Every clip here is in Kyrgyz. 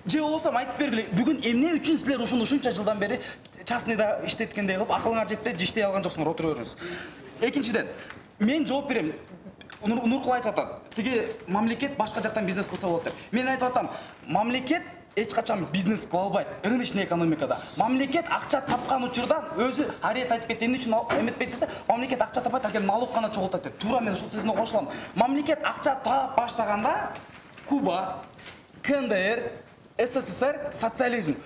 же болбосо айтып бергиле, бүгүн эмне үчүн силер ушунча жылдан бери частныйда иштеткендей кылып акылыңар жетпей иштей алган жоксуңар, отура бериңиз. Экинчиден, мен жооп берем. Нуркул айтып атат, тиги мамлекет башка жактан бизнес кылса болот деп. Мен айтып атам, мамлекет эч качан бизнес кыла албайт рыночный экономикада. Мамлекет акча тапкан учурда өзү арет айтып кетти, эмне үчүн эметпейт десе, мамлекет акча таппайт, анткени налог гана чогултат деп. Туура мен ушул сөзүнө кошулам. Мамлекет акча таап баштаганда Куба, КНДР, СССР, социализм.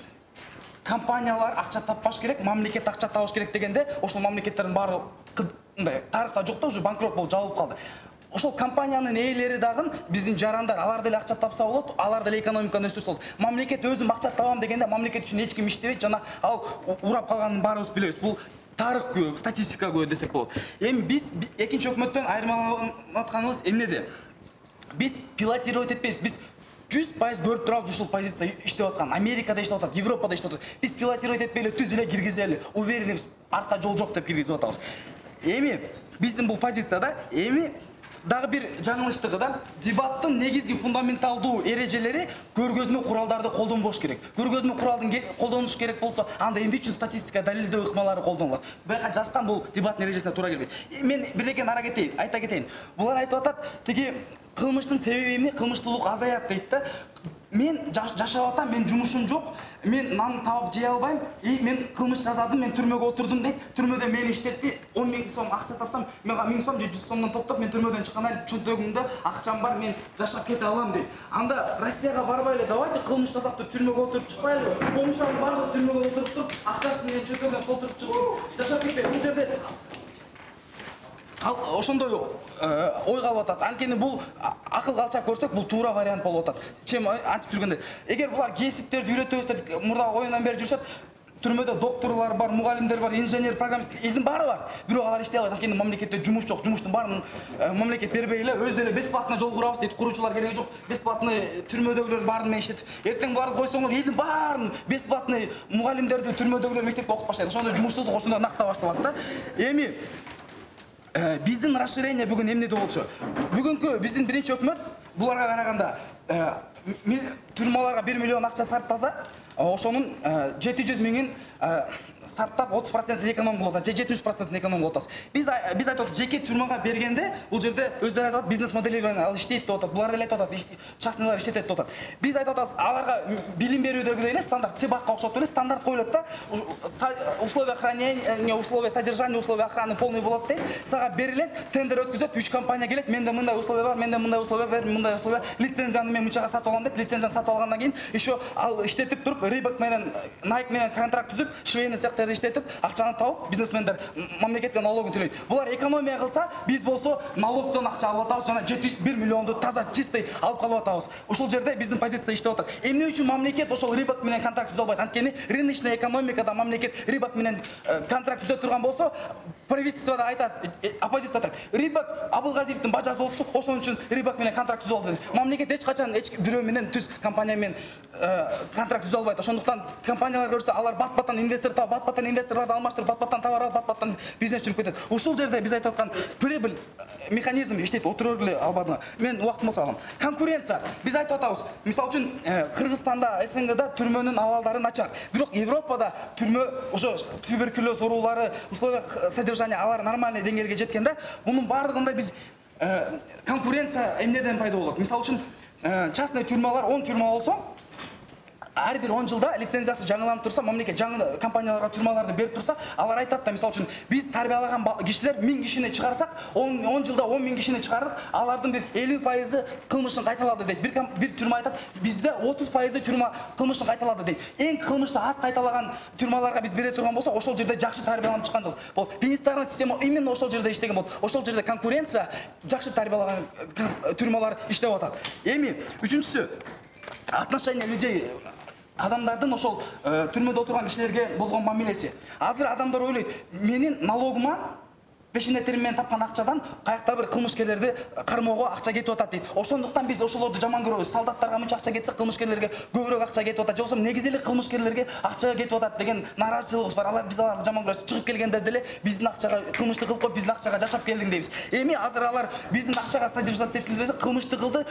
Компаниялар акча таппаш керек, мамлекет акча табыш керек дегенде, ошол мамлекеттердин баары мындай тарыхта жок да, уже банкрот болуп жабылып калды. Ошол компаниянын ээлери дагы биздин жарандар, алар деле акча тапса болот, алар деле экономиканы өстүрсө болот. Мамлекет өзүм акча табам дегенде мамлекет үчүн эч ким иштебейт, жана ал урап калганын баарыбыз билебиз. Бул тарых күбө, статистика күбө десек болот. Эми биз экинчи өкмөттөн айырмаланып атканыбыз эмнеде? Биз пилотировать этпейбиз. Биз 100% көрүп турабыз ушул позиция иштеп аткан. Америкада иштеп атат, Европада иштеп атат. Биз пилотировать этпей эле түз эле киргизели, уверенбиз, артка жол жок деп киргизип атабыз. Эми биздин бул позицияда эми дагы бир жаңылыштыгы да, дебаттын негизги фундаменталдуу эрежелери көргөзмө куралдарды колдонбош керек. Көргөзмө куралдын колдонуш керек болсо, анда эмне үчүн статистика далилдөө ыкмалары колдонулат? Буга жазган бул дебаттын эрежесине туура келбейт. Мен бирдекени айта кетейин. Булар айтып атат, тиги кылмыштын себеби эмне? Кылмыштуулук азаят дейт да. Мен жашап атам, мен жумушум жок, мен нан таап жей албайм, мен кылмыш жасадым, мен түрмөгө отурдум дейт. Түрмөдө мени иштетти, 10 000 сом акча тапсам, менга 1000 сом же 100 сомдон топтоп, мен түрмөдөн чыкканда чөнтөгүмдө акчам бар, мен жашап кете алам дейт. Анда Россияга барбай эле, давайте кылмыш жасап туруп түрмөгө отуруп чыкпайлы. Комуштардын баардыгы түрмөгө отуруп туруп, акчасын менен чөнтөгүнөн толтуруп чыгып, жашап кетпей. Бул жерде ошондой ой калып атат. Анткени бул акыл калчак көрсөк, бул туура вариант болуп атат. Чем антип жүргөндө. Эгер булар кесиптерди үйрөтөбүз деп мурда оюндан бери жүрүшөт, түрмөдө докторлор бар, мугалимдер бар, инженер, программист, элдин баары бар. Бирок алар иштей албайт. Анткени мамлекетте жумуш жок. Жумуштун баарын мамлекет бербей эле, өзү эле бесплатно жол курабыз дейт. Куруучулар кереги жок. Бесплатно түрмөдөгүлөр баарын мен иштетип. Эртең буларды койсоңор, элдин баарын бесплатно мугалимдерди түрмөдөгүлөр мектепке окуп баштайт. Ошондой жумушсуздук ошондо накта башталат да. Эми биздин расширение бүгүн эмнеде болчу? Бүгүнкү биздин биринчи өкмөт буларга караганда түрмаларга 1 миллион акча сарптаса, ошонун 700 миңин сарптап 30% эконом кылып атат, же 70% эконом кылып атабыз. Биз айтып атат, жеке түрмага бергенде бул жерде өздөрү айтып атат, бизнес моделирование ал иштейт деп атат. Булар деле айтып атат, частныйлар иштетет деп атат. Биз айтып атабыз, аларга билим берүүдөгү эле стандарт, цебакка окшоп эле стандарт коюлат да. Условия хранения, условия содержания, условия охраны полный болот дейт. Сага берилет, тендер өткөзөт, 3 компания келет, менде мындай условия бар, менде мындай условия бар, мындай условия, лицензияны мен мынчага сатып алам дейт. Лицензияны сатып алгандан кийин еще ал иштетип туруп, Reebok менен Nike менен контракт түзүп, швейный цехтерди иштетип, акчаны табып, бизнесмендер мамлекетке налогун төлөйт. Булар экономия кылса, биз болсо налогдон акча алып атабыз, жана 1 миллионду таза чистый алып калып атабыз. Ушул жерде биздин позиция иштеп атат. Эмне үчүн мамлекет ошол Reebok менен контракт түзө албайт? Анткени рыночный экономикада мамлекет Reebok менен контракт түзө турган болсо, правительствода айтат, оппозиция айтат, Reebok Абылгазиевдин бажасы болсо, ошон үчүн Reebok менен контракт түзө алды. Мамлекет эч качан бирөө менен түз компания менен контракт түзө албайт. Ошондуктан компаниялар көрсө, алар бат-баттан инвестор таап, бат-баттан инвесторлорду алмаштырып, бат-баттан товар алып, бат-баттан бизнес жүрүп кетет. Ушул жерде биз айтып аткан прибыль механизм иштейт, отура эле албадыңар. Мен убактым болсо алам. Конкуренция. Биз айтып атабыз, мисалы үчүн Кыргызстанда, СНГда түрмөнүн абалдары начар. Бирок Европада түрмө ошо туберкулез оорулары, условия содержания алар нормальный деңгээлге жеткенде, бунун баардыгында биз конкуренция эмнеден пайда болот? Мисалы үчүн частный түрмалар 10 түрмө болсо, ар бир 10 жылда лицензиясы жаңыланып турса, мамлекет жаңы компанияларга түрмаларды берип турса, алар айтат да, мисалы үчүн биз тарбиялаган кишилер 1000 кишини чыгарсак, 10 жылда 10 000 кишини чыгардык, алардын бир 50% кылмышын кайталады дейт. Бир түрмө айтат, бизде 30% түрмө кылмышын кайталады дейт. Эң кылмышты аз кайталаган түрмаларга биз бере турган болсок, ошол жерде жакшы тарбияланып чыккан жыл. Бул пенитенциарный система именно ошол жерде иштеген болот. Ошол жерде конкуренция, жакшы тарбиялаган түрмалар иштеп атат. Эми үчүнчүсү, отношение людей, адамдардын ошол түрмөдө отурган кишилерге болгон мамилеси. Азыр адамдар ойлойт, менин налогума пешене терим менен тапкан акчадан каякта бир кылмышкерлерди кармоого акча кетип атат дейт. Ошондуктан биз ошолорду жаман көрөбүз. Солдаттарга мынча акча кетсе, кылмышкерлерге көбүрөөк акча кетип атат. Жоксо негизи эле кылмышкерлерге акча кетип атат деген нааразычылыгыбыз бар. Биз аларды жаман көрөбүз. Чыгып келгенде деле биздин акчага кылмыштык кылып коюп, биздин акчага жашап келдиң дейбиз. Эми азыр алар биздин акчага содержаться этилбесе, кылмыштык кылды,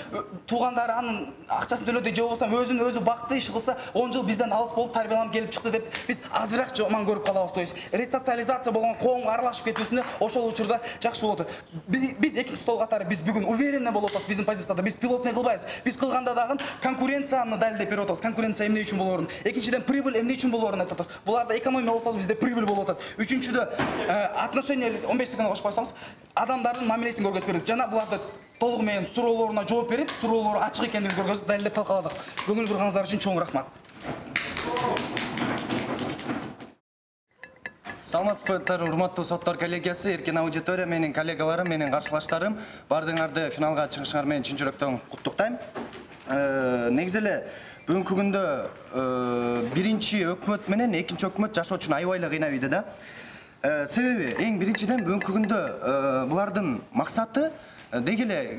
туугандары анын акчасын төлөдү же болбосо өзүн өзү бакты, иш кылса 10 жыл бизден алыс болуп тарбияланып келип чыкты деп биз азыраак жаман көрүп калабыз. То есть ресоциализация болгон коомго аралашып кетүүсүнө ошол учурда жакшы болот. Биз экинчи стол катары биз бүгүн уверенно болуп атабыз биздин позицияда. Биз пилотный кылбайбыз. Биз кылганда дагы конкуренцияны далилдеп берип атабыз. Конкуренция эмне үчүн болоорун, экинчиден прибыль эмне үчүн болоорун айтып атабыз. Буларда экономия болсо бизде прибыль болуп атат. Үчүнчүдө отношение 15 секунд кошуп койсоңуз, адамдардын мамилесин көргөзүп бердик. Жана буларды толугу менен суроолоруна жооп берип, суроолору ачык экендигин көргөзүп далилдеп талкаладык. Көңүл бурганыңыздар үчүн чоң рахмат. Саламатсызбы, урматтуу соттор коллегиясы, эркен аудитория, менин коллегаларым, менин каршылаштарым, баардыгыңарды финалга чыгышыңар менен чын жүрөктөн куттуктайм. Негизи эле бүгүнкү күндө биринчи өкмөт менен экинчи өкмөт жашоо үчүн аябай эле кыйнап ийди да. Себеби эң биринчиден бүгүнкү күндө булардын максаты деги эле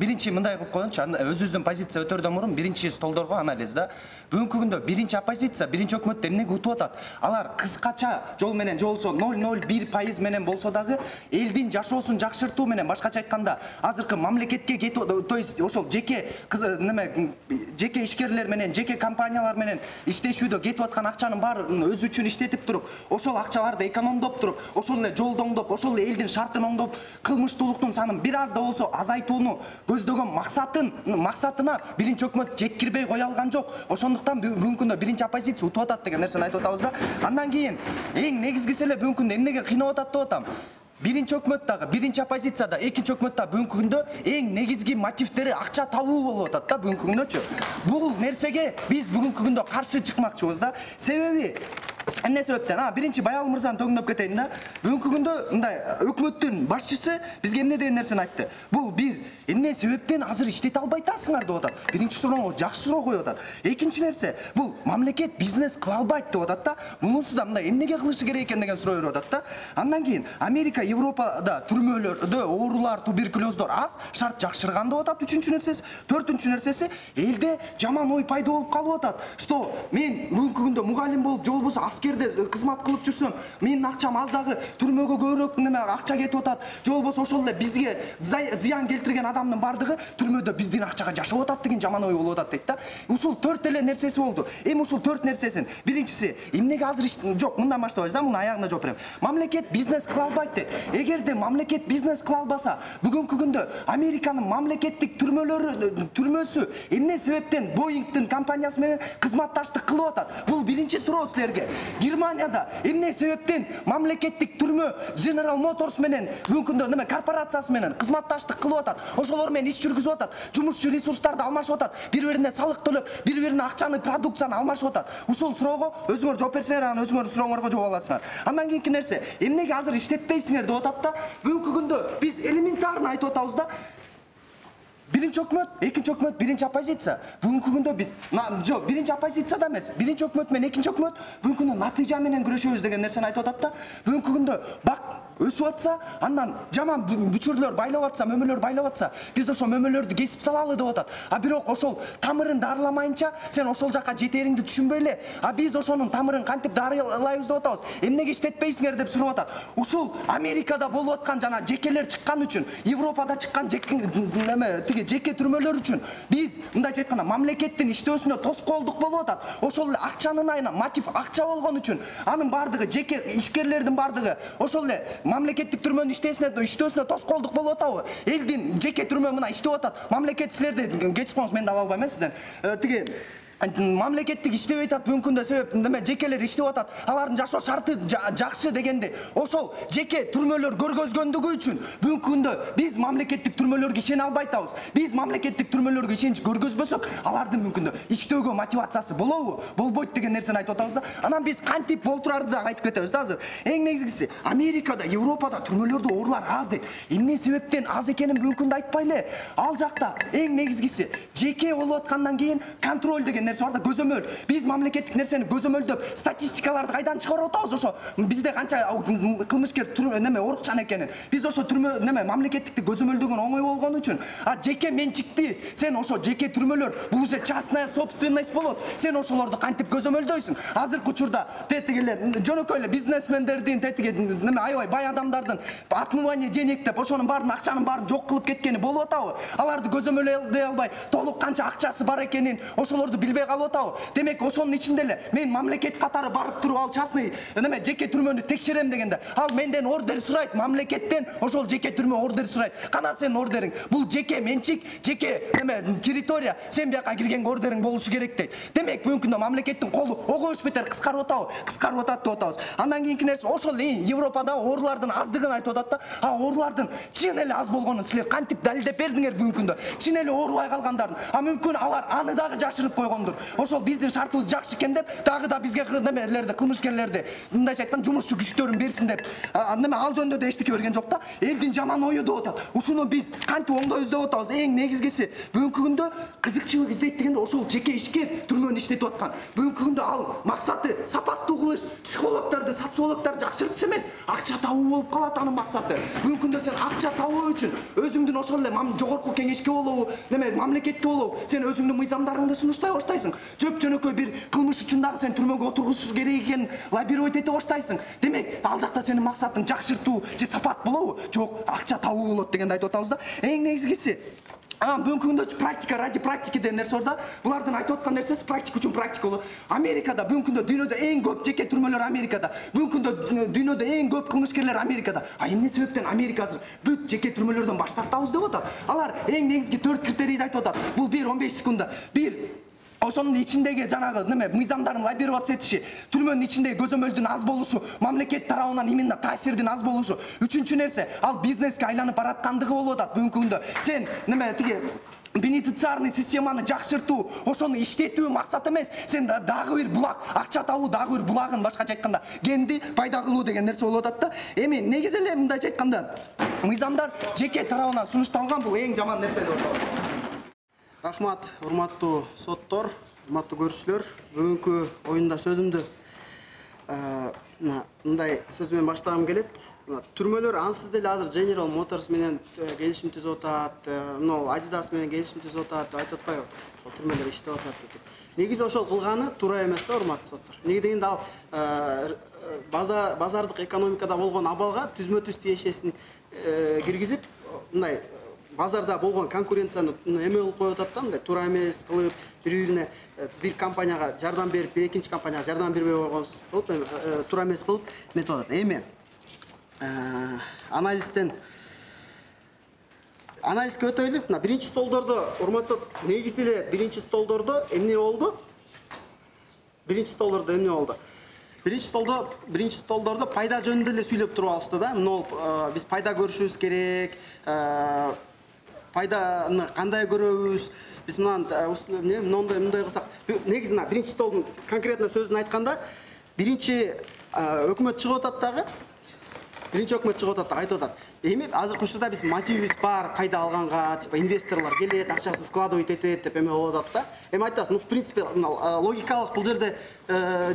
биринчи мындай кылып коелучу, өзүбүздүн позиция өтөрдөн мурун биринчи столдорго анализ да. Бүгүнкү күндө биринчи оппозиция, биринчи өкмөттө эмнеге утуп атат? Алар кыскача жол менен же болсо 0,01% менен болсо дагы элдин жашоосун жакшыртуу менен, башкача айтканда, азыркы мамлекетке кетип, то есть ошол жеке ишкерлер менен, жеке компаниялар менен иштешүүдө кетип аткан акчанын баарын өзү үчүн иштетип туруп, ошол акчаларды экономдоп туруп, ошол эле жолду оңдоп, ошол эле элдин шартын оңдоп, кылмыштуулуктун санын бир аз да болсо азайтууну көздөгөн максатына биринчи өкмөт жеккирбей кое алган жок. Ошондуктан бүгүнкү күндө биринчи оппозиция утуп атат деген нерсени айтып атабыз да. Андан кийин эң негизгиси эле бүгүнкү күндө эмнеге кыйнап атат деп атам. Биринчи өкмөт дагы, биринчи оппозиция да, экинчи өкмөт да бүгүнкү күндө эң негизги мотивдери акча табуу болуп атат да бүгүнкү күндөчү. Бул нерсеге биз бүгүнкү күндө каршы чыкмакчыбыз да. Себеби эмне себептен? Биринчи Баял мырзаны төгүндөп кетейин да. Бүгүнкү күндө мындай өкмөттүн башчысы бизге эмне деген нерсени айтты? Бул бир, эмне себептен азыр иштете албай атасыңар деп атат. Биринчи сурооңо жакшы суроо коюп атат. Экинчи нерсе, бул мамлекет бизнес кыла албайт деп атат да. Мунусу да мындай эмнеге кылышы керек экен деген суроо берип атат да. Андан кийин Америка, Европада түрмөлөрдө оорулар, туберкулездор аз, шарт жакшырган деп атат. Үчүнчү нерсеси, төртүнчү нерсеси, элде жаман ой пайда болуп калып атат. Что мен бүгүнкү күндө мугалим болуп, же болбосо аскерде кызмат кылып жүрсөм, менин акчам аз дагы түрмөгө көбүрөөк акча кетип атат. Же болбосо ошол эле бизге зыян келтирген адамдын бардыгы түрмөдө биздин акчага жашап атат деген жаман ой болуп атат дейт да. Ушул төрт эле нерсеси болду. Эми ушул төрт нерсесин биринчиси, эмнеге азыр жок, мындан баштабайбыз да, мунун аягына жооп берем. Мамлекет бизнес кыла албайт дейт. Эгерде мамлекет бизнес кыла албаса, бүгүнкү күндө Американын мамлекеттик түрмөсү эмне себептен Боингдин компаниясы менен кызматташтык кылып атат? Бул биринчи суроо силерге. Германияда эмне себептен мамлекеттик түрмө General Motors менен бүгүнкү күндө корпорациясы менен кызматташтык кылып атат? Ошолор менен иш жүргүзүп атат. Жумушчу ресурстарды алмашып атат. Бири-бирине салык төлөп, бири-бирине акчаны, продукцияны алмашып атат. Ушул суроого өзүңөр жооп берсеңер, анан өзүңөрдүн сурооңорго жооп аласыңар. Андан кийинки нерсе, эмнеге азыр иштетпейсиңер деп атат да. Бүгүнкү күндө биз элементарно айтып атабыз да. Биринчи өкмөт, экинчи өкмөт, биринчи оппозиция. Бүгүнкү күндө биз жок, биринчи оппозиция да эмес. Биринчи өкмөт менен экинчи өкмөт бүгүнкү күндө натыйжа менен күрөшөбүз деген нерсени айтып атат да. Бүгүнкү күндө бак өсүп атса, андан жаман бүчүрлөр байлап атса, мөмөлөр байлап атса, биз ошол мөмөлөрдү кесип салалы деп атат. Бирок ошол тамырын дарыламайынча сен ошол жака жетериңди түшүнбөй эле, биз ошонун тамырын кантип дарылайбыз деп атабыз. Эмнеге иштетпейсиңер деп сурап атат. Ушул Америкада болуп аткан жана жекелер чыккан үчүн, Европада чыккан жеке түрмөлөр үчүн биз мындайча айтканда мамлекеттин иштөөсүнө тоскоолдук болуп атат. Ошол эле акчанын айына мотив акча болгон үчүн анын бардыгы жеке ишкерлердин бардыгы ошол эле мамлекеттик түрмөнүн иштөөсүнө тоскоолдук болуп атабы? Элдин жеке түрмө мына иштеп атат. Мамлекет силерди кечип коңуз, мен да ала албайм сизден. Тиги мамлекеттик иштебей атат бүгүнкү күндө себеп жекелер иштеп атат. Алардын жашоо шарты жакшы дегенде ошол жеке түрмөлөр көргөзгөндүгү үчүн бүгүнкү күндө биз мамлекеттик түрмөлөргө ишене албай атабыз. Биз мамлекеттик түрмөлөргө ишенич көргөзбөсөк, алардын бүгүнкү күндө иштөөгө мотивациясы болобу, болбойт деген нерсени айтып атабыз да. Анан биз кантип болтурарды да айтып кетебиз да азыр. Эң негизгиси, Америкада, Европада түрмөлөрдө оорулар аз дейт. Эмне себептен аз экенин бүгүнкү күндө айтпай эле. Ал жакта эң негизгиси жеке болуп аткандан кийин контроль деген нерсе бар да, көзөмөл. Биз мамлекеттик нерсени көзөмөлдөп, статистикаларды кайдан чыгарып атабыз ошо. Бизде канча кылмышкер неме орукчан экенин. Биз ошо түрмө неме мамлекеттикти көзөмөлдөгөн оңой болгон үчүн, жеке менчикти сен ошо жеке түрмөлөр бул уже частная собственность болот. Сен ошолорду кантип көзөмөлдөйсүң? Азыркы учурда тетиги эле жөнөкөй эле бизнесмендердин тетиги неме аябай бай адамдардын отмывание денег деп ошонун баарын акчанын баарын жок кылып кеткени болуп атабы? Аларды көзөмөлдөй албай, толук канча акчасы бар экенин ошолорду билбей калып атабы? Демек ошонун ичинде эле мен мамлекет катары барып туруп ал частный неме жеке түрмөнү текшерем дегенде, ал менден ордер сурайт, мамлекеттен ошол жеке түрмө ордер сурайт. Кана сенин ордериң? Бул жеке менчик, жеке неме территория, сен бияка киргенге ордериң болушу керек дейт. Демек бүгүнкү күндө мамлекеттин колу огош бетер кыскарып атабы? Кыскарып атат деп атабыз. Андан кийинки нерсе ошол Европада оорулардын аздыгын айтып атат да. Оорулардын чын эле аз болгонун силер кантип далилдеп бердиңер бүгүнкү күндө? Чын эле оорубай калгандарын. Мүмкүн алар аны дагы жашырып койгондур. Ошол биздин шартыбыз жакшы экен деп, дагы да бизге немелерди, кылмышкерлерди, мындайча айтканда жумушчу күчтөрүн берсин деп. Неме ал жөнүндө да эчтеке берген жок да. Элдин жаман ою деп атат. Ушуну биз кантип оңдойбуз деп атабыз. Эң негизгиси бүгүнкү күндө кызыкчылык издейт дегенде ошол жеке ишкер түрмөнү иштетип аткан. Бүгүнкү күндө ал максаты сапаттуу кылыш, психологдорду, социологдорду жакшыртыш эмес, акча табуу болуп калат анын максаты. Бүгүнкү күндө сен акча табуу үчүн өзүңдүн ошол эле жогорку кеңешке болобу, неме мамлекетте болобу, сен өзүңдүн мыйзамдарыңды сунуштай баштайсың. Жөнөкөй бир кылмыш үчүн дагы сен түрмөгө отургузуш керек экенин лоббировать эте баштайсың. Демек, ал жакта сенин максатың жакшыртуу же сапат болобу? Жок, акча табуу болот дегенди айтып атабыз да. Эң негизгиси бүгүнкү күндө практика ради практики деген нерсе бар да. Булардын айтып аткан нерсеси практика үчүн практика болот. Америкада бүгүнкү күндө дүйнөдө эң көп жеке түрмөлөр Америкада. Бүгүнкү күндө дүйнөдө эң көп кылмышкерлер Америкада. Эмне себептен Америка азыр бүт жеке түрмөлөрдөн баш тартабыз деп атат? Алар эң негизги 4 критерийди айтып атат. Бул 1-15 секундда. 1 ошонун ичиндеги жанагы неме мыйзамдарын лоббировать этиши, түрмөнүн ичиндеги көзөмөлдүн аз болушу, мамлекет тарабынан именно таасирдин аз болушу. Үчүнчү нерсе, ал бизнеске айланып бараткандыгы болуп атат бүгүнкү күндө. Сен неме тиги бенефициарный системаны жакшыртуу, ошону иштетүү максат эмес. Сен дагы бир булак, акча табуу дагы бир булагын башкача айтканда кенди пайда кылуу деген нерсе болуп атат да. Эми негизи эле мындайча айтканда мыйзамдар жеке тарабынан сунушталган, бул эң жаман нерсе деп атабыз. Рахмат, урматтуу соттор, урматтуу көрүүчүлөр. Бүгүнкү оюнда сөзүмдү мындай сөз менен баштагым келет. Түрмөлөр ансыз деле азыр General Motors менен келишим түзүп атат, Adidas менен келишим түзүп атат, айтып атпайбы? Түрмөлөр иштеп атат деп. Негизи ошол кылганы туура эмес да, урматтуу соттор. Неге дегенде ал базардык экономикада болгон абалга түзмө-түз тиешесин киргизип, мындай базарда болгон конкуренцияны эме кылып коюп атат да, мындай туура эмес кылып, бири-бирине бир компанияга жардам берип, экинчи компанияга жардам бербей койгон кылып, туура эмес кылып метип атат. Эми анализге өтөйлү. Мына биринчи столдордо, урматтуу сот, негизи эле биринчи столдордо эмне болду? Биринчи столдордо пайда жөнүндө эле сүйлөп туруп алышты да. Биз пайда көрүшүбүз керек, пайданы кандай көрөбүз, биз мындай кылсак, негизи биринчи столдун конкретно сөзүн айтканда, биринчи өкмөт чыгып атат дагы, айтып атат. Эми азыркы учурда биз мотивибиз бар, пайда алганга, типа инвесторлор келет, акчасын вкладывать этет деп эме болуп атат да. Эми айтасың, в принципе, логикалык бул жерде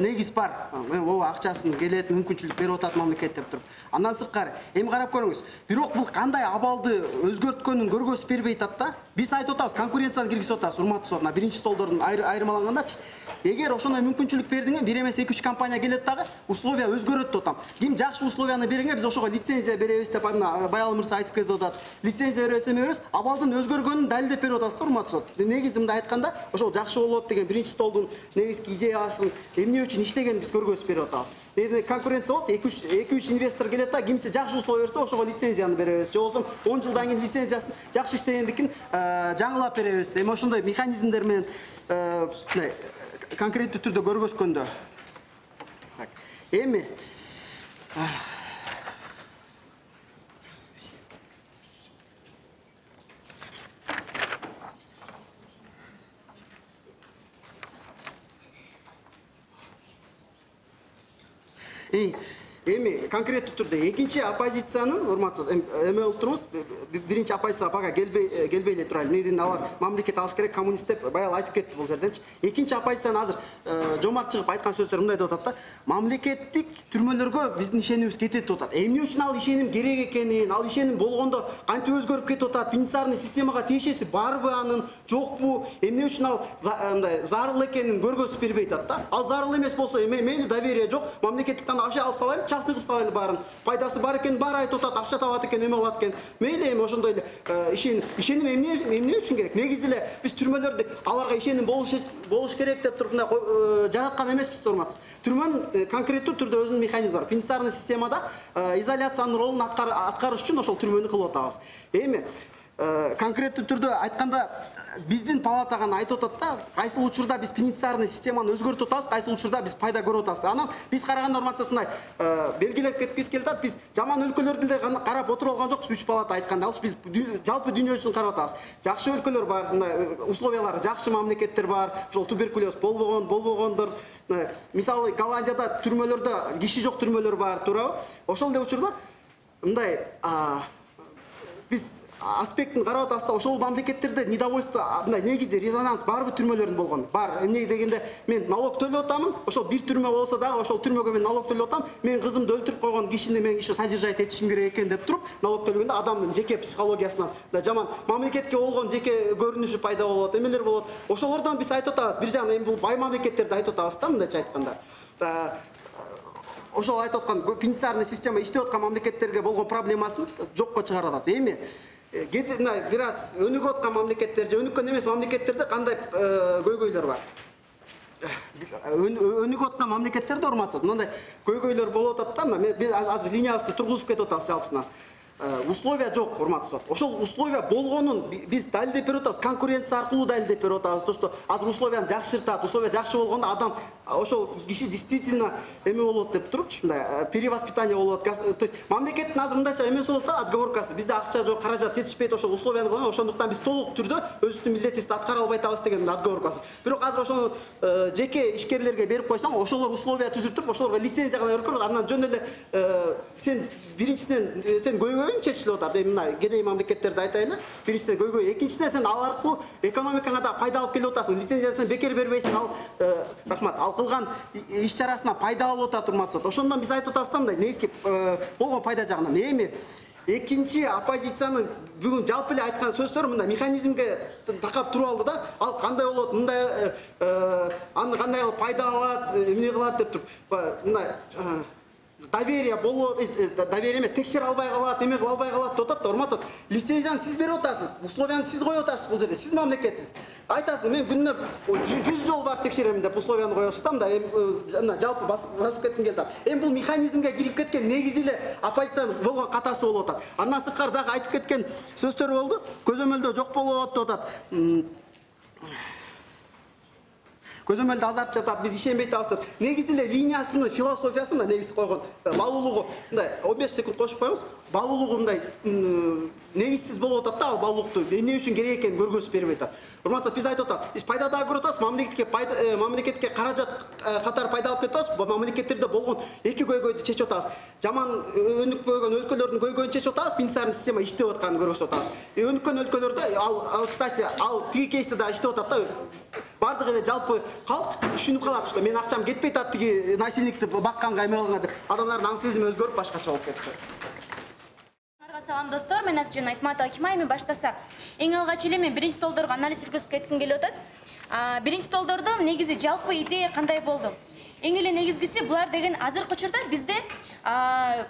негиз бар. Ооба, акчасын келет, мүмкүнчүлүк берип атат мамлекет деп туруп. Андан сырткары, эми карап көрүңүз. Бирок бул кандай абалды өзгөрткөнүн көргөзүп бербей атат да. Биз айтып атабыз, конкуренцияны киргизип атабыз, урматтуу сот. Биринчи столдордун айырмалангандачы. Эгер ошондой мүмкүнчүлүк бердиңер, бир эмес 2-3 компания келет дагы, условия өзгөрөт деп атам. Ким жакшы условияны бериңер, биз ошого лицензия беребиз деп Баял мырза айтып кетип атат. Лицензия беребиз, абалдын өзгөргөнүн далилдеп берип атасыз, урматтуу сот. Негизи мындай айтканда, ошол жакшы болот деген биринчи столдун негизги идеясын эмне үчүн иштегенин биз көргөзүп берип атабыз. Конкуренция болот, 2-3 инвестор келет да, кимсе жакшы условия берсе, ошого лицензияны беребиз. Же болбосо 10 жылдан кийин лицензиясын жакшы иштегендикин жаңылап беребиз. Эми ошондой механизмдер менен конкреттүү түрдө көргөзгөндө. Эми Эми конкреттүү түрдө экинчи оппозициянын урматтуу эме болуп турбуз. Биринчи оппозиция бага келбей эле турат. Эмнеден алар мамлекет алыш керек, коммунист деп баягы айтып кетти бул жерденчи. Экинчи оппозициянын азыр жомарт чыгып айткан сөздөр мындай деп атат да. Мамлекеттик түрмөлөргө биздин ишенимибиз кетет деп атат. Эмне үчүн ал ишеним керек экенин, ал ишеним болгондо кантип өзгөрүп кетип атат? Пенитенциарный системага тиешеси барбы анын, жокпу? Эмне үчүн ал мындай зарыл экенин көргөзүп бербей атат да. Ал зарыл эмес болсо, мейли доверие жок, мамлекеттиктен вообще алып салайын, частный кылып салайлы баарын. Пайдасы бар экенин баары айтып атат, акча табат экен, эме кылат экен. Мейли эми ошондой эле ишеним эмне үчүн керек? Негизи эле биз түрмөлөрдү аларга ишеним болуш керек деп туруп мындай жараткан эмеспиз, урматтуу. Түрмөнүн конкреттүү түрдө өзүнүн механизми бар. Пенитенциарный системада изоляциянын ролун аткарыш үчүн ошол түрмөнү кылып атабыз. Эми конкреттүү түрдө айтканда биздин палата гана айтып атат да, кайсыл учурда биз пенитенциарный системаны өзгөртүп атабыз, кайсыл учурда биз пайда көрүп атабыз. Анан биз караганда урматтуулар белгилеп кеткибиз келип атат, биз жаман өлкөлөрдү деле карап отуруп алган жокпуз. Үч палата айтканда, ал биз жалпы дүйнө жүзүн карап атабыз. Жакшы өлкөлөр бар, мындай условиялары жакшы мамлекеттер бар. Ошол туберкулез болбогондор. Мисалы Голландияда түрмөлөрдө киши жок түрмөлөр бар, туурабы? Ошол эле учурда мындай биз аспектин карап атабыз да, ошол мамлекеттерде недовольство, мындай негизи резонанс барбы түрмөлөрдүн болгон? Бар. Эмне дегенде мен налог төлөп атамын, ошол бир түрмө болсо дагы ошол түрмөгө мен налог төлөп атам, мен кызымды өлтүрүп койгон кишини мен еще содержать этишим керек экен деп туруп, налог төлөгөндө адамдын жеке психологиясынан жаман мамлекетке болгон жеке көрүнүшү пайда болот, эмелер болот. Ошолордон биз айтып атабыз, бир жагынан эми бул бай мамлекеттерди айтып атабыз да, мындайча айтканда. Ошол айтып аткан пенитенциарный система иштеп аткан мамлекеттерге болгон проблемасын жокко чыгарып атабыз. Эми бир аз өнүгүп аткан мамлекеттер же өнүккөн эмес мамлекеттерде кандай көйгөйлөр бар? Өнүгүп аткан мамлекеттерде урматтуу, мындай көйгөйлөр болуп атат да, биз азыр линиябызды тургузуп кетип атабыз жалпысынан. Условия жок, урматтуу. Ошол условия болгонун биз далилдеп берип атабыз, конкуренция аркылуу далилдеп берип атабыз. То, что азыр условияны жакшыртат, условия жакшы болгондо адам ошол киши действительно эме болот деп турупчу, мындай перевоспитание болот. То есть мамлекеттин азыр мындайча эмеси болот да, отговоркасы. Бизде акча жок, каражат жетишпейт, ошол условияны кылган, ошондуктан биз толук түрдө өзүбүздүн милдетибизди аткара албай атабыз деген отговоркасы. Бирок азыр ошону жеке ишкерлерге берип койсоң, ошолор условия түзүп туруп, ошолорго лицензия гана берип коет, андан жөн эле сен биринчиден сен көйгөйүң чечилип атат. Эми мына кедей мамлекеттерди айтайын. Биринчиден көйгөй, экинчиден сен ал аркылуу экономикаңа да пайда алып келип атасың. Лицензиясын бекер бербейсиң, ал рахмат, ал кылган иш чарасына пайда алып атат, урматтуу. Ошондон биз айтып атабыз да, мындай негизги болгон пайда жагынан. Эми экинчи оппозициянын бүгүн жалпы эле айткан сөздөрү мындай механизмге такап туруп алды да. Ал кандай болот, мындай аны кандай кылып пайда алат, эмне кылат деп туруп мындай доверие болот, доверие эмес, текшере албай калат, эме кыла албай калат деп атат да, урматтуу. Лицензияны сиз берип атасыз, условияны сиз коюп атасыз бул жерде, сиз мамлекетсиз. Айтасыз, мен күнүнө 100 жол барып текшерем деп условияны коесуз да, мындай жалпы басып кетким келип атат. Эми бул механизмге кирип кеткен негизи эле оппозициянын болгон катасы болуп атат. Андан сырткары дагы айтып кеткен сөздөр болду. Көзөмөлдөө жок болот деп атат. Көзөмөлдө азартып жатат, биз ишенбей атабыз деп. Негизи эле линиясынын философиясында негизи койгон баалуулугу мындай 15 секунд кошуп коебуз. Баалуулугу мындай негизсиз болуп атат да, ал баалуулукту эмне үчүн керек экенин көргөзүп бербей атат. Урматтуу, биз айтып атабыз, биз пайда да көрүп атабыз, мамлекетке каражат катары пайда алып кетип атабыз. Мамлекеттерде болгон эки көйгөйдү чечип атабыз. Жаман өнүкпөгөн өлкөлөрдүн көйгөйүн чечип атабыз, пенитенциарный система иштеп атканын көргөзүп атабыз. Өнүккөн өлкөлөрдө ал кстати, ал тиги кейсте да иштеп атат да. Бардык эле жалпы калк түшүнүп калат, что мен акчам кетпей атат тиги насильникти бакканга, эме кылганга деп. Адамдардын аң сезими өзгөрүп башкача болуп кетти. Салам достор, мен аты-жөнүм Айтматова Акима. Эми баштасак, эң алгач эле мен биринчи столдорго анализ жүргүзүп кетким келип атат. Биринчи столдордо негизи жалпы идея кандай болду? Эң эле негизгиси булар деген азыркы учурда бизде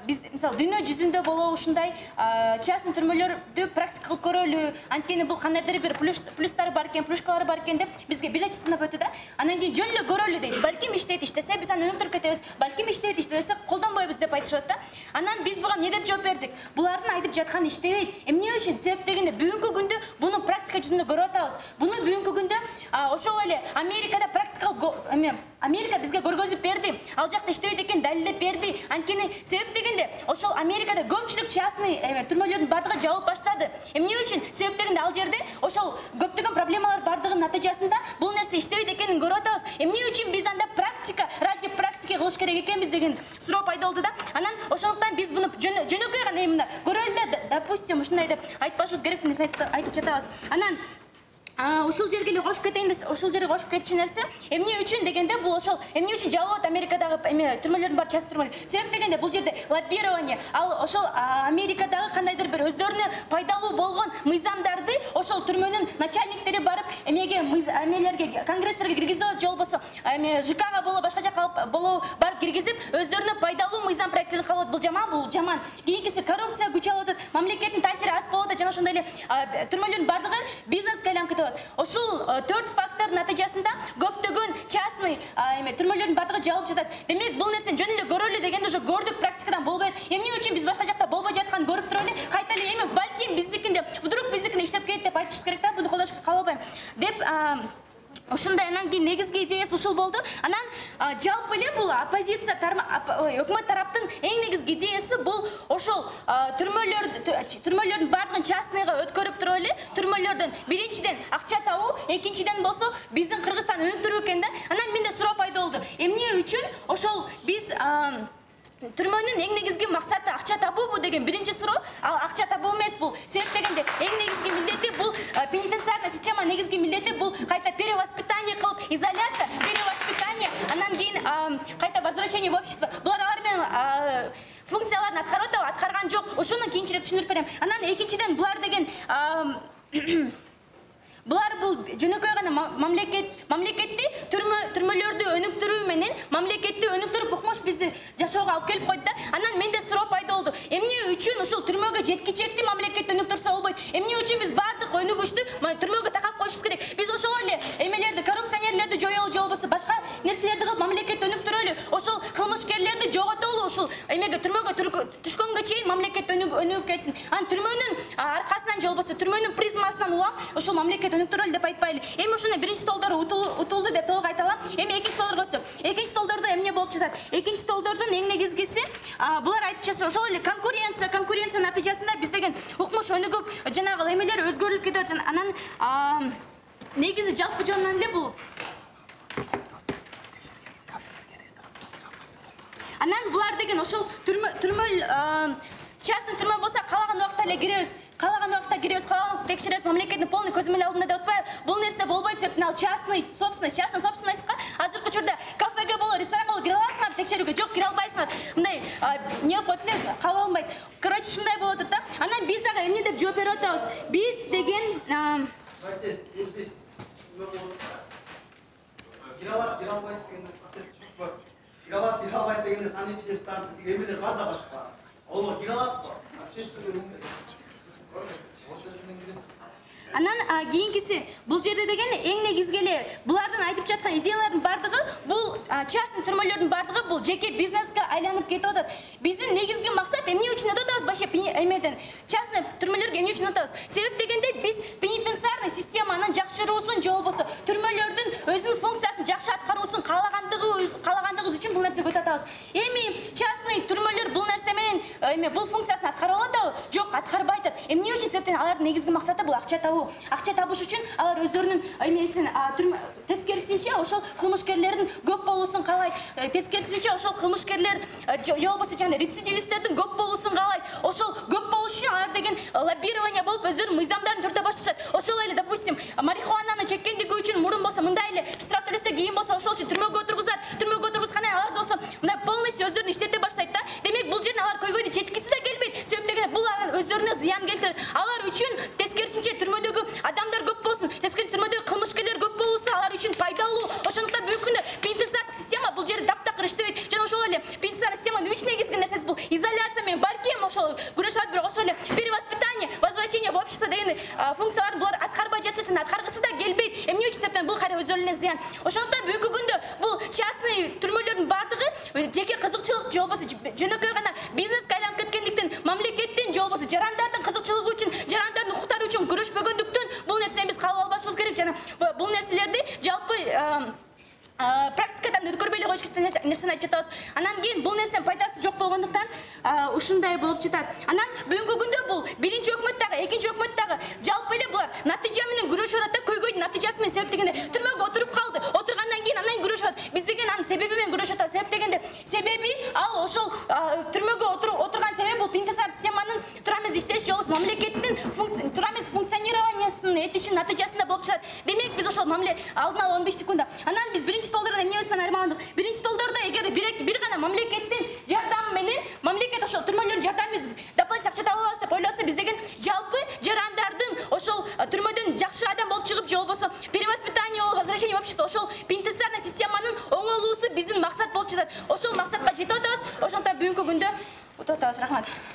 биз мисалы дүйнө жүзүндө болобу ушундай частный түрмөлөрдү практика кылып көрөлү, анткени бул кандайдыр бир плюстары бар экен, плюшкалары бар экен деп бизге билет сынап өтү да. Андан кийин жөн эле көрөлү дейт. Балким иштейт, иштесе биз аны өнүктүрүп кетебиз. Балким иштейт, иштесе колдонбойбуз деп айтышат да. Анан биз буга эмне деп жооп бердик? Булардын айтып жатканы иштебейт. Эмне үчүн? Себеп дегенде бүгүнкү күндө буну практика жүзүндө көрүп атабыз. Буну бүгүнкү күндө ошол эле Америкада практикалык Америка бизге көргөзүп берди. Ал жакта иштебейт экен далилдеп берди. Анткени себеп дегенде ошол Америкада көпчүлүк частный түрмөлөрдүн бардыгы жабылып баштады. Эмне үчүн? Себеп дегенде ал жерде ошол көптөгөн проблемалар бардыгынын натыйжасында бул нерсе иштебейт экенин көрүп атабыз. Эмне үчүн биз анда практика ради практики кылыш керек экенбиз деген суроо пайда болду да. Анан ошондуктан биз буну жөнөкөй гана эмне көрөлү да, допустим, ушундай деп айтпашыбыз керек деп айтып жатабыз. Анан ушул жерге эле кошуп кетейин десе, ушул жерге кошуп кетчү нерсе, эмне үчүн дегенде бул ошол эмне үчүн жабылат Америкадагы түрмөлөрдүн бар часть түрмөлөр. Себеп дегенде бул жерде лоббирование, ал ошол Америкадагы кандайдыр бир өздөрүнө пайдалуу болгон мыйзамдарды ошол түрмөнүн начальниктери барып эмелерге конгресстерге киргизип же болбосо ЖКга боло башка жака боло барып киргизип өздөрүнө пайдалуу мыйзам проекттерин кабыл алат. Бул жаман. Кийинкиси коррупция күчөп атат, мамлекеттин таасири аз болуп атат жана ошондой эле түрмөлөрдүн бардыгы бизнеске айланып. Ошол 4 фактор натыйжасында көптөгөн частный түрмөлөрдүн бардыгы жабылып жатат. Демек бул нерсени жөн эле көрөлү дегенде уже көрдүк, практикадан болбойт. Эмне үчүн биз башка жакта болбой жатканын көрүп туруп эле кайта эле эми балким биздикинде вдруг биздикинде иштеп кетет деп айтышыбыз керек да, буну колдошко кабыл албайм деп ушундай. Анан кийин негизги идеясы ушул болду. Анан жалпы эле бул оппозиция өкмөт тараптын эң негизги идеясы бул ошол түрмөлөрдүн бардыгын частныйга өткөрүп туруп эле түрмөлөрдөн биринчиден акча табуу, экинчиден болсо биздин Кыргызстан өнүктүрүү экен да. Анан менде суроо пайда болду. Эмне үчүн ошол биз түрмөнүн эң негизги максаты акча табуубу деген биринчи суроо. Ал акча табуу эмес бул. Себеп дегенде эң негизги милдети бул пенитенциарный система негизги милдети бул кайта перевоспитание кылып, изоляция, перевоспитание, анан кийин кайта возвращение в общество. Булар алар менен функцияларын аткарып атабы, аткарган жок. Ошону кийинчерээк түшүндүрүп берем. Анан экинчиден булар деген булар бул жөнөкөй гана мамлекетти түрмөлөрдү өнүктүрүү менен мамлекетти өнүктүрүп укмуш бизди жашоого алып келип койду да. Анан менде суроо пайда болду. Эмне үчүн ушул түрмөгө жеткичекти мамлекетти өнүктүрсө болбойт? Эмне үчүн биз бардык өнүгүштү түрмөгө такап коюшубуз керек? Биз ошол эле эмелерди, коррупционерлерди жоёлу же болбосо башка нерселерди кылып мамлекетти өнүктүрөлү. Ошол кылмышкерлерди жоготору, ушул эмеге түрмөгө түшкөнгө чейин мамлекет өнүгүп кетсин. Анан түрмөнүн аркасынан же болбосо түрмөнүн призмасынан улам ошол мамлекет өнүктүрөлү деп айтпайлы. Эми ушуну биринчи столдору утулду деп толук айта алам. Эми экинчи столдорго өтсөк. Экинчи столдордо эмне болуп жатат? Экинчи столдордун эң негизгиси булар айтып жатышат ошол эле конкуренция натыйжасында биз деген укмуш өнүгүп, жанагы эмелер өзгөрүлүп кетип атат. Анан негизи жалпы жөнүнөн эле бул анан булар деген ошол түрмө частный түрмө болсо каалаган убакта эле киребиз. Каалаган убакта киребиз, каалаган убакта текшеребиз, мамлекеттин полный көзөмөл алдында деп атпайбы? Бул нерсе болбойт себептен ал частный собственностька азыркы учурда кафеге боло, ресторанга боло кире аласыңар текшерүүгө, жок кире албайсыңар. Мындай не болуп койт эле, кабыл алынбайт. Короче, ушундай болуп атат да. Анан биз ага эмне деп жооп берип атабыз? Биз деген кире албайт дегенде санэпидем станция деген эмелер бар да башка. Олар кире алат. Анан кийинкиси бул жерде деген эң негизги эле булардын айтып жаткан идеялардын бардыгы бул частный түрмөлөрдүн бардыгы бул жеке бизнеске айланып кетип атат. Биздин негизги максат эмне үчүн атабыз вообще эмеден частный түрмөлөргө эмне үчүн атабыз? Себеп дегенде биз пенитенциарный системанын жакшыруусун же болбосо түрмөлөрдүн өзүнүн функциясын жакшы аткаруусун каалагандыгыбыз үчүн бул нерсеге өтүп атабыз. Эми частный түрмөлөр бул нерсе менен бул функциясын аткарып атабы? Жок, аткарбай атат. Эмне үчүн? Себептен алардын негизги максаты бул акча табуу. Акча табыш үчүн алар өздөрүнүн тескерисинче ошол кылмышкерлердин көп болуусун каалайт. Тескерисинче ошол кылмышкерлер же болбосо жана рецидивисттердин көп болуусун каалайт. Ошол көп болуш үчүн алар деген лоббирование болуп өздөрүнүн мыйзамдарын түртө башташат. Ошол эле, допустим, марихуананы чеккендиги үчүн мурун болсо мындай эле штраф төлөсө, кийин болсо ошол үчүн түрмөгө отургузат. Түрмөгө отургузгандан алар болсо мындай полностью өздөрүн иштете баштайт да. Демек бул жерден алар көйгөйдү чечкиси да келбейт. Себеп дегенде бул өздөрүнө зыян келтирет. Алар үчүн тескерисинче түрмөдөгү адамдар көп болсун, тескери түрмөдөгү кылмышкерлер көп болуусу алар үчүн пайдалуу. Ошондуктан бүгүнкү күндө пенитенциардык система бул жерде таптакыр иштебейт. Жана ошол эле пенитенциардык системанын үч негизги нерсеси бул изоляция менен балким ошол күрөшөт, бирок ошол эле перевоспитание, возвращение в общество деген функцияларын булар аткарбай жатышат, жана аткаргысы да келбейт. Эмне үчүн? Себептен бул кайра өздөрүнө зыян. Ошондуктан бүгүнкү күндө бул частный түрмөлөрдүн бардыгы жеке кызыкчылык же болбосо жөнөкөй гана бизнеске айланып кеткендиктен мамлекеттин же болбосо жарандардын кызыкчылыгы үчүн, жарандардын укуктары үчүн күрөшпөгөндүктөн бул нерсени биз кабыл албашыбыз керек. Жана бул нерселерди жалпы практикадан өткөрбөй эле коюш керек нерсени айтып жатабыз. Анан кийин бул нерсенин пайдасы жок болгондуктан ушундай болуп жатат. Анан бүгүнкү күндө бул биринчи өкмөт дагы, экинчи өкмөт дагы жалпы эле булар натыйжа менен күрөшүп атат да, көйгөйдүн натыйжасы менен. Себеп дегенде түрмөгө отуруп калды. Отургандан кийин анан күрөшүп атат. Биз деген анын себеби менен күрөшүп атабыз. Себеп дегенде себеби ал ошол ошолбуз мамлекеттин туура эмес функционированиясынын этишинин натыйжасында болуп чыгат. Демек биз ошол мамиле алдын ала 15 секундда. Анан биз биринчи столдордон эмнебиз менен айырмаландык? Биринчи столдордо эгерде бир гана мамлекеттин жардамы менен мамлекет ошол түрмөлөрдүн жардамы дополнительный акча таба алабыз деп ойлоп атса, биз деген жалпы жарандардын ошол түрмөдөн жакшы адам болуп чыгып же болбосо перевоспитание, возвращение в общество, ошол пенитенциарный системанын оңолуусу биздин максат болуп жатат. Ошол максатка жетип атабыз. Ошондуктан бүгүнкү күндө утуп атабыз. Рахмат.